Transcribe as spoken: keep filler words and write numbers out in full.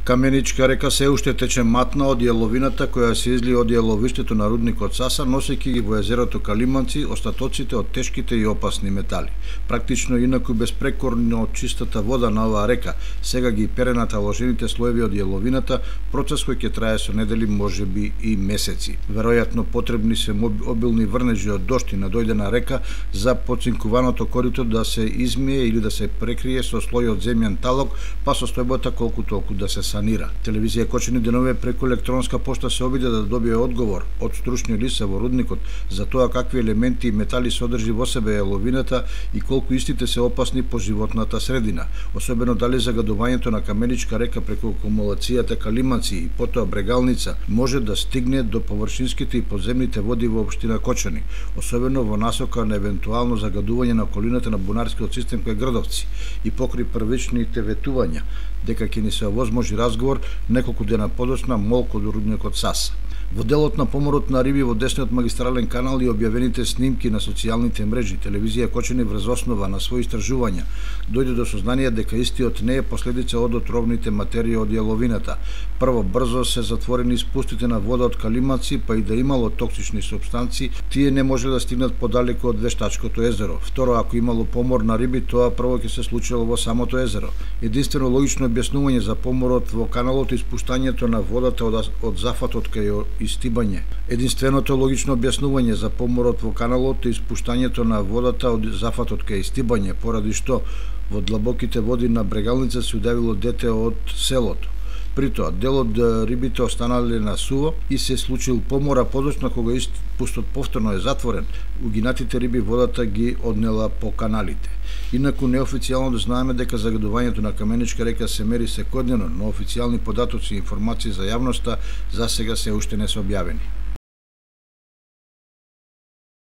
Каменичка река се уште тече матна од јаловината која се изли од јаловиштето на рудникот Саса, носејќи ги во езерото Калиманци остатоците од тешките и опасни метали. Практично инаку безпрекорно од чистата вода на оваа река, сега ги пере наталожените слоеви од јаловината, процес кој ќе трае со недели, можеби и месеци. Веројатно потребни се обилни врнежи од дожд и надојдена река за поцинкуваното корито да се измие или да се прекрие со слој од земјан талок, па состојбата колку толку да се санира. Телевизија Кочани денове преку електронска пошта се обиде да добие одговор од стручни лица во рудникот за тоа какви елементи и метали содржи во себе јаловината и колку истите се опасни по животната средина, особено дали загадувањето на Каменичка река преку акумулацијата Калиманци и потоа Брегалница може да стигне до површинските и подземните води во општина Кочани, особено во насока на евентуално загадување на околината на бунарскиот систем кај Градовци и покри првичните ветувања дека ќе ни се овозможи разговор неколку дена подоцна молку до рудникот Саса. Во делот на поморот на риби во десниот магистрален канал и објавените снимки на социјалните мрежи, телевизија Кочани врз основа на своји истражувања дојде до сознание дека истиот не е последица од отровните материи од јаловината. Прво, брзо се затворени спустите на вода од Калиманци, па и да имало токсични супстанции, тие не може да стигнат подалеку од Вештачкото езеро. Второ, ако имало помор на риби, тоа прво ќе се случило во самото езеро. Единствено логично објаснување за поморот во каналот и испуштањето на водата од, од зафатот кај истибање. Единственото логично објаснување за поморот во каналот е испуштањето на водата од зафатот кај истибање, поради што во длабоките води на Брегалница се удавило дете од селото. При тоа, дел од рибите останале на суво и се случил помор, а подоцна кога испустот повторно е затворен, угинатите риби водата ги однела по каналите. Инаку неофицијално да знаеме дека загадувањето на Каменичка река се мери секојдневно, но официјални податоци и информации за јавноста за сега се уште не се објавени.